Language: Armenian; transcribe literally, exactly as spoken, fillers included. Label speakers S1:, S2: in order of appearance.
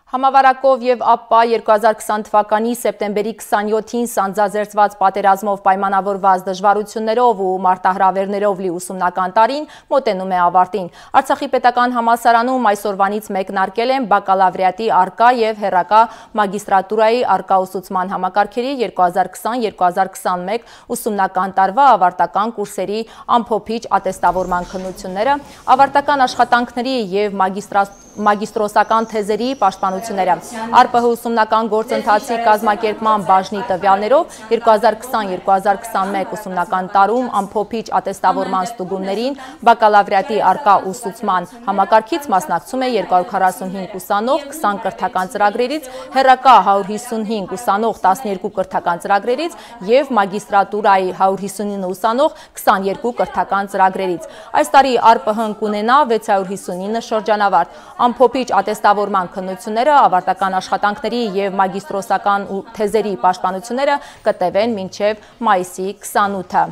S1: Համավարակով և ԱՊՊԱ երկու հազար քսան թվականի սեպտեմբերի քսանյոթին սանձազերծված պատերազմով պայմանավորված դժվարություններով ու մարտահրավերներով լի ուսումնական տարին մոտենում է ավարտին։ Արցախի պետական համալսարանում այսօրվանից մեկնարկել են բակալավրիատի առկա և հեռակա մագիստրատուրայի առկա ուսուցման համակարգերի երկու հազար քսան երկու հազար քսանմեկ ուսումնական տարվա ավարտական կուրսերի ամփոփիչ ատեստավորման քննությունները, ավարտական աշխատանքների և մագիստրոսական թեզերի պաշտպանությունները։ ԱՊՊՀ ուսումնական գործընթացի կազմակերպման բաժնի տվյալներով երկու հազար քսան երկու հազար քսանմեկ ուսումնական տարում ամփոփիչ ատեստավորման ստուգումներին բակալավրիատի առկա ուսուցման համակարգից մասնակցում է երկու հարյուր քառասունհինգ ուսանող քսան կրթական ծրագրերից, հեռակա հարյուր հիսունհինգ ուսանող տասներկու կրթական ծրագրերից և մագիստրատուրայի հարյուր հիսունինը ուսանող քսաներկու կրթական ծրագրերից։ Այս տարի ԱՊՊՀ-ն կունենա վեց հարյուր հիսունինը շրջանավարտ։ Ամփոփիչ ատեստավորման քննությունները, ավարտական աշխատանքների և մագիստրոսական թեզերի պաշտպանությունները կտևեն մինչև մայիսի քսանութը։